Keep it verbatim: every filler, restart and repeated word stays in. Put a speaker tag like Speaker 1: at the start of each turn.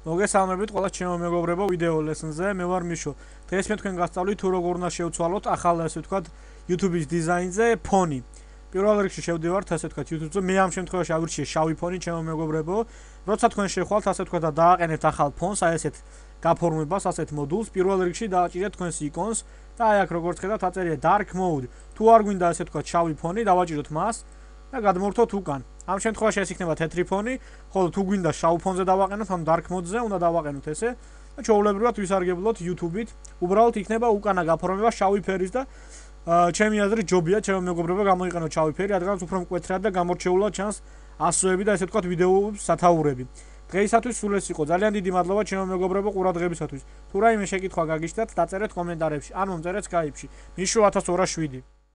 Speaker 1: მოგესალმებით ყველა ჩემო მეგობრებო ვიდეო ლესონზე. მე ვარ მიშო. დღეს მე თქვენ გასწავლით თუ როგორ უნდა შევცვალოთ ახალ ასე ვთქვათ YouTube-ის დიზაინზე ფონი. პირველ რიგში შევდივართ ასე ვთქვათ YouTube-ზე. მე ამ შემთხვევაში ავირჩიე შავი ფონი ჩემო მეგობრებო. როცა თქვენ შეხვალთ ასე ვთქვათ და დააყენებთ ახალ ფონს, აი ესეთ გაფორმებას, ასეთ მოდულს, პირველ რიგში დააჭირეთ თქვენს იკონს და აი აქ როგორც ხედავთ აწერია dark mode. თუ არ გვინდა ასე ვთქვათ შავი ფონი, დავაჭიროთ მას და გადმოვრთოთ უკან. ამ შემთხვევაში ეს იქნება თეთრი ფონი, ხოლო თუ გვინდა შავ ფონზე დავაყენოთ, ანუ dark mode-ზე უნდა დავაყენოთ ესე და ჩვეულებრივად ვისარგებლოთ YouTube-ით. უბრალოდ იქნება უკანა გაფორმება შავი ფერის და ჩემი აზრით ჯობია ჩემო მეგობრებო გამოიყენოთ შავი ფერი, რადგან უფრო მკვეთრად და გამორჩეულად ჩანს ასოები და ესე ვთქვათ ვიდეოების სათაურები. დღეისათვის სულ ეს იყო. ძალიან დიდი მადლობა ჩემო მეგობრებო ყურადღებისათვის. თუ რაიმე შეკითხვა გაგიჩნდათ, დაწერეთ კომენტარებში, ან მომწერეთ Skype-ში. მიშო ათას ორას შვიდი.